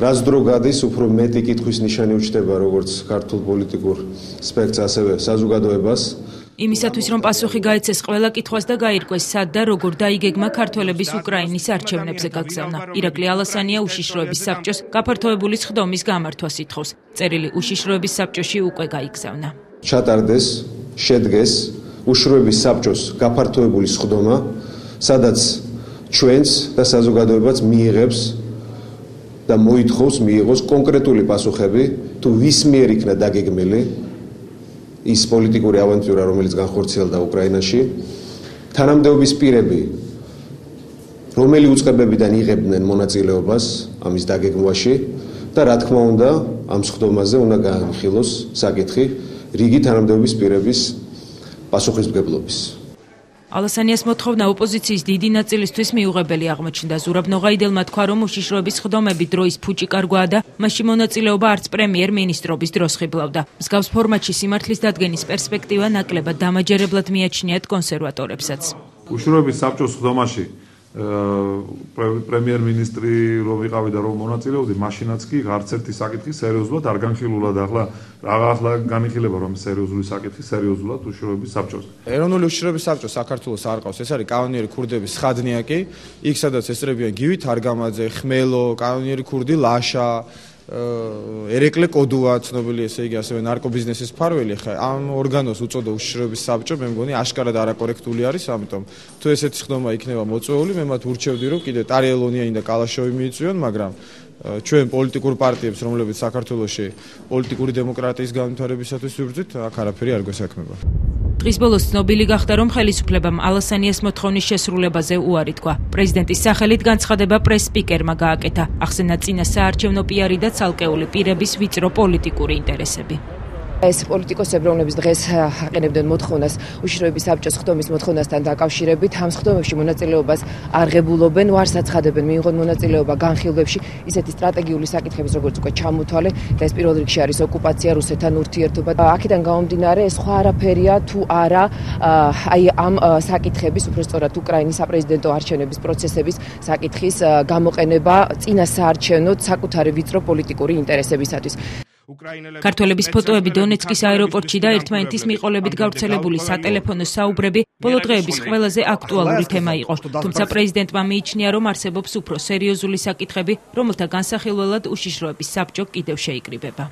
რაც დრო გადის, უფრო მეტი კითხვის ნიშანი უჩნდება როგორც ქართულ პოლიტიკურ სპექტრს, ასევე საზოგადოებას. იმისათვის, რომ პასუხი გაეცეს ყველა კითხვას და გაირკვეს, სად და როგორ დაიგეგმა ქართველების უკრაინის არჩევნებზე გაგზავნა. ირაკლი ალასანია უშიშროების საბჭოს გაფართოებული სხდომის გამართვას ითხოვს. წერილი უშიშროების საბჭოში უკვე გაიგზავნა. ჩატარდეს, შედგეს უშიშროების საბჭოს გაფართოებული სხდომა, სადაც ჩვენს და საზოგადოებაც მიიღებს და მოითხოვს მიიღოს კონკრეტული პასუხები, თუ ვის მიერ იქნა დაგეგმილი ის პოლიტიკური ავანტიურა, რომელიც განხორციელდა უკრაინაში, თანამდებობის პირები, რომელი უწყებებიდან იღებდნენ მონაწილეობას ამის დაგეგმვაში და რა თქმა უნდა, ამ სხდომაზე უნდა გაანხილოს საკითხი რიგი თანამდებობის პირების პასუხისმგებლობის. ალასანიას მოთხოვნა ოპოზიციის დიდი ნაწილისთვის მიუღებელი აღმოჩნდა. ზურაბ ნოღაიდელმა თქვა, რომ უშიშროების სხდომები დროის ფუჭი კარგვაა და მასში მონაწილეობა არც პრემიერ-მინისტრობის დროს ხიბლავდა. მსგავს ფორმატში სიმართლის დადგენის პერსპექტივა ნაკლებად დამაჯერებლად მიაჩნიათ კონსერვატორებსაც. უშიშროების საბჭოს სხდომაში პრემიერ-მინისტრი რომ ვიყავი და რომ მონაწილეობდი, მაშინაც კი არც ერთი საკითხი სერიოზულად არ განხილულა და ახლა განიხილება რომ სერიოზული საკითხი სერიოზულად უშიშროების საბჭოს. ეროვნული უშიშროების საბჭო საქართველოს არ ყავს, ეს არის კანონიერი ქურდების ხადნიაკი, იქ სადაც ესწრებიან გივი თარგამაძე, ხმელო, კანონიერი ქურდი ლაშა, ერეკლე კოდუა ცნობილი, ესე იგი ასევე ნარკობიზნესის მფარველი. ხა ამ ორგანოს უწოდა უშიშროების საბჭო, მე მგონი აშკარად არაკორექტული არის, ამიტომ თუ ესეთი სხდომა იქნება მოწვეული, მე მათ ურჩევდი რომ კიდე ტარიელონიანი და კალაშოვი მიიწვიონ, მაგრამ ჩვენ პოლიტიკურ პარტიებს, რომლებიც საქართველოში პოლიტიკური დემოკრატიის განვითარებისათვის ვიბრძვით, აქ არაფერი არ გვესაქმება. დღის ბოლოს ცნობილი გახდა, რომ ხელისუფლებამ ალასანიას მოთხოვნის შესრულებაზე უარი თქვა. პრეზიდენტის სახელით განცხადება პრეს-სპიკერმა გააკეთა. ახსენა წინა საარჩევნო პიარი და ცალკეული პირების ვიწრო პოლიტიკური ინტერესები. ეს პოლიტიკოსები, რომლებიც დღეს აყენებდნენ მოთხოვნას უშიშროების საბჭოს სხდომის მოთხოვნასთან დაკავშირებით, ამ სხდომებში მონაწილეობას არ ღებულობენ, ვარს აცხადებენ მიიღონ მონაწილეობა განხილვებში ისეთი სტრატეგიული საკითხების, როგორც უკვე ჩამოთვალე და ეს პირველ რიგში არის ოკუპაცია, რუსეთთან ურთიერთობა. აქედან გამომდინარე, სხვა არაფერია თუ არა აი ამ საკითხების, უფრო სწორად უკრაინის საპრეზიდენტო არჩევნების პროცესების საკითხის გამოყენება წინა საარჩევნო საკუთარი ვიწრო პოლიტიკური ინტერესებისათვის. ქართველების ფოტოები დონეცკის აეროპორტში და ერთმანეთის მიყოლებით გავრცელებული სატელეფონო საუბრები ბოლო დღეების ყველაზე აქტუალური თემა იყო. თუმცა პრეზიდენტმა მიიჩნია, რომ არსებობს უფრო სერიოზული საკითხები, რომელთა განსახილველად უშიშროების საბჭო კიდევ შეიკრიბება.